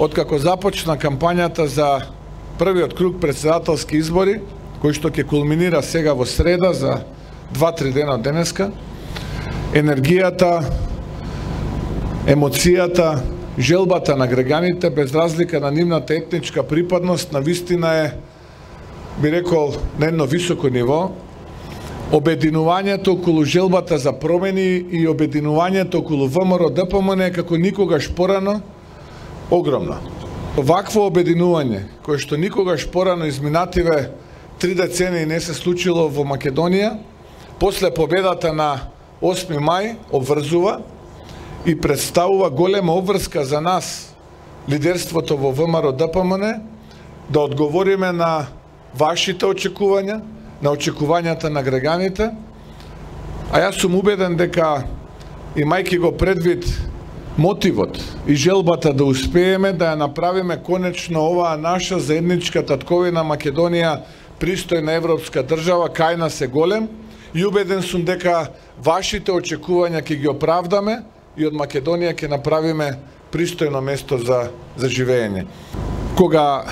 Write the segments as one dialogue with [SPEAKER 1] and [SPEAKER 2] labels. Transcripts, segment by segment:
[SPEAKER 1] откако започна кампањата за првиот круг претседателски избори, кој што ќе кулминира сега во среда за 2-3 дена од денеска, енергијата, емоцијата, желбата на граѓаните, без разлика на нивната етничка припадност, на вистина е, би рекол, на едно високо ниво. Обединувањето околу желбата за промени и обединувањето околу ВМРО-ДПМН како никогаш порано огромно. Вакво обединување, кое што никогаш порано изминативе 3 децении не се случило во Македонија, после победата на 8 мај обврзува и представува голема обврска за нас, лидерството во ВМРО-ДПМН, да одговориме на вашите очекувања, на очекувањата на граѓаните, а јас сум убеден дека, имајќи го предвид мотивот и желбата да успееме да ја направиме конечно оваа наша заедничка татковина Македонија пристојна европска држава, кај нас е голем, и убеден сум дека вашите очекувања ќе ги оправдаме и од Македонија ќе направиме пристојно место за живење. Кога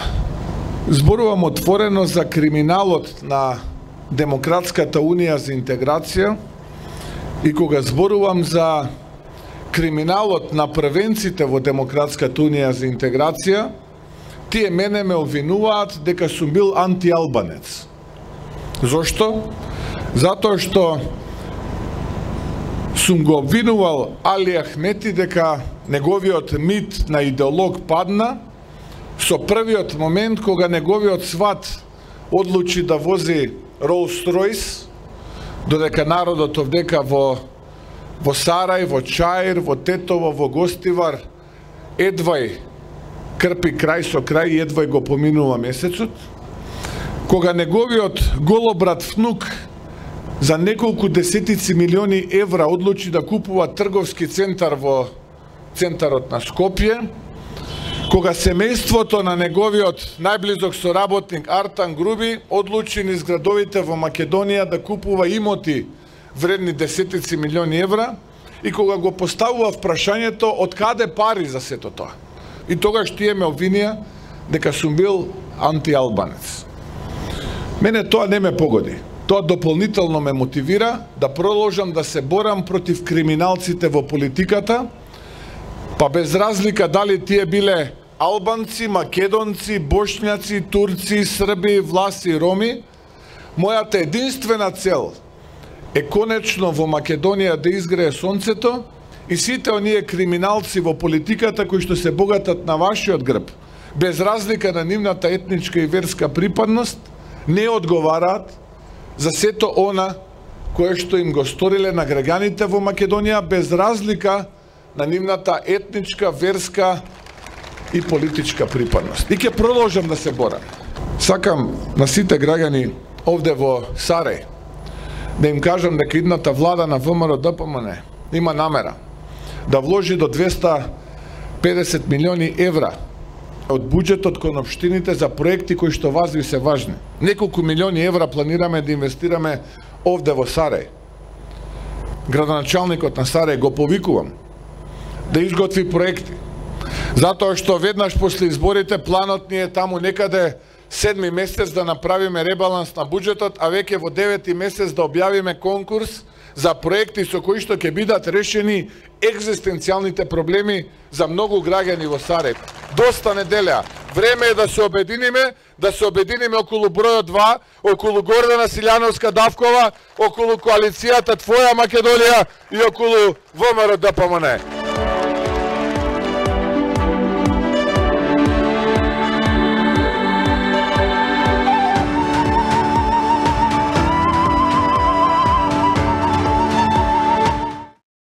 [SPEAKER 1] зборувам отворено за криминалот на Демократската унија за интеграција и кога зборувам за криминалот на првенците во Демократската унија за интеграција, тие мене ме обвинуваат дека сум бил антиалбанец. Зошто? Затоа што сум го обвинувал Али Ахмети дека неговиот мит на идеолог падна со првиот момент кога неговиот сват одлучи да вози Rolls-Royce, додека народот овдека во Сарај, во Чаир, во Тетово, во Гостивар, едвај крпи крај со крај и едвај го поминува месецот, кога неговиот голобрат внук за неколку десетици милиони евра одлучи да купува трговски центар во центарот на Скопје, кога семејството на неговиот најблизок соработник Артан Груби одлучи низ градовите во Македонија да купува имоти вредни десетици милиони евра и кога го поставува прашањето од каде пари за сето тоа. И тогаш тие ме обвинија дека сум бил антиалбанец. Мене тоа не ме погоди. Тоа дополнително ме мотивира да продолжам да се борам против криминалците во политиката, па без разлика дали тие биле албанци, македонци, бошњаци, турци, срби, власи, роми, мојата единствена цел е конечно во Македонија да изгрее сонцето и сите оние криминалци во политиката кои што се богатат на вашиот грб, без разлика на нивната етничка и верска припадност, не одговараат за сето она кое што им го сториле на граѓаните во Македонија, без разлика на нивната етничка, верска и политичка припадност. И ќе продолжам да се борам. Сакам на сите граѓани овде во Сарај да им кажам дека идната влада на ВМРО-ДПМН има намера да вложи до 250 милиони евра од буџетот кон општините за проекти кои што вас ви се важни. Неколку милиони евра планираме да инвестираме овде во Сарај. Градоначалникот на Сарај го повикувам да изготви проекти. Затоа што веднаш после изборите планот ни е таму некаде 7 месец да направиме ребаланс на буџетот, а веќе во 9 месец да објавиме конкурс за проекти со кои што ќе бидат решени екзистенцијалните проблеми за многу граѓани во Сарај. Доста неделја. Време е да се обединиме околу бројот 2, околу Гордана Силјановска-Давкова, околу коалицијата Твоја Македонија и околу ВМРО-ДПМН.